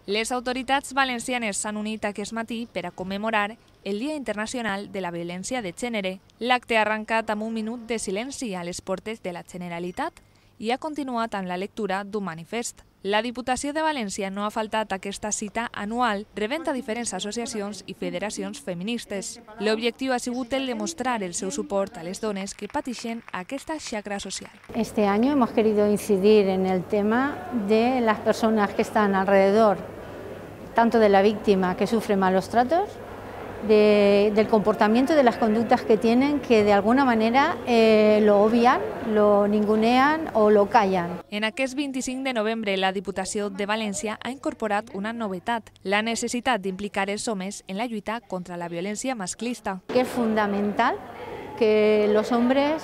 Les autoritats valencianes s'han unit aquest matí per a commemorar el Dia Internacional de la Violència de Gènere. L'acte ha arrencat amb un minut de silenci a les portes de la Generalitat i ha continuat amb la lectura d'un manifest. La Diputació de València no ha faltat a aquesta cita anual, rebent a diferents associacions i federacions feministes. L'objectiu ha sigut el demostrar el seu suport a les dones que pateixen aquesta xacra social. Este año hemos querido incidir en el tema de las personas que están alrededor, tanto de la víctima que sufre malos tratos, del comportamiento, de las conductas que tienen, que de alguna manera lo obvian, lo ningunean o lo callan. En aquest 25 de novembre, la Diputació de València ha incorporat una novetat, la necessitat d'implicar els homes en la lluita contra la violència masclista. Que es fundamental que los hombres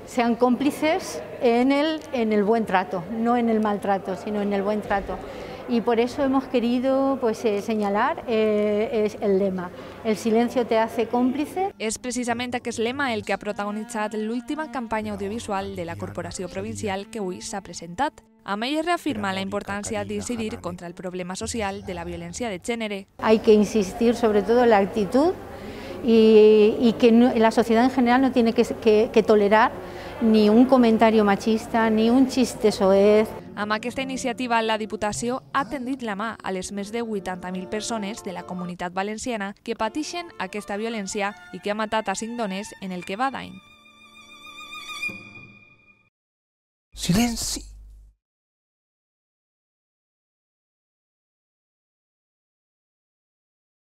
sean cómplices en el buen trato, no en el maltrato, sino en el buen trato. Y por eso hemos querido señalar el lema, el silencio te hace cómplice. És precisament aquest lema el que ha protagonitzat l'última campanya audiovisual de la Corporació Provincial que avui s'ha presentat. Amb ell es reafirma la importància d'incidir contra el problema social de la violència de gènere. Hay que insistir sobre todo en la actitud y que la sociedad en general no tiene que tolerar ni un comentario machista ni un chiste soez. Amb aquesta iniciativa, la Diputació ha tendit la mà a les més de 80.000 persones de la comunitat valenciana que pateixen aquesta violència i que ha matat a 5 dones en el que va d'any. Silenci!